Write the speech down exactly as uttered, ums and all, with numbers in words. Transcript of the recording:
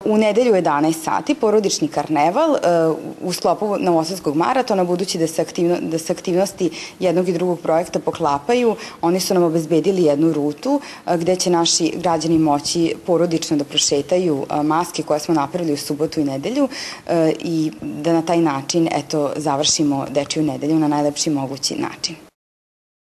U nedelju u jedanaest sati porodični karneval u sklopu Novosadskog maratona, budući da se, aktivno, da se aktivnosti jednog i drugog projekta poklapaju, oni su nam obezbedili jednu rutu gde će naši građani moći porodično da prošetaju maske koje smo napravili u subotu i nedelju i da na taj način eto, završimo Dečiju nedelju na najlepši mogući način.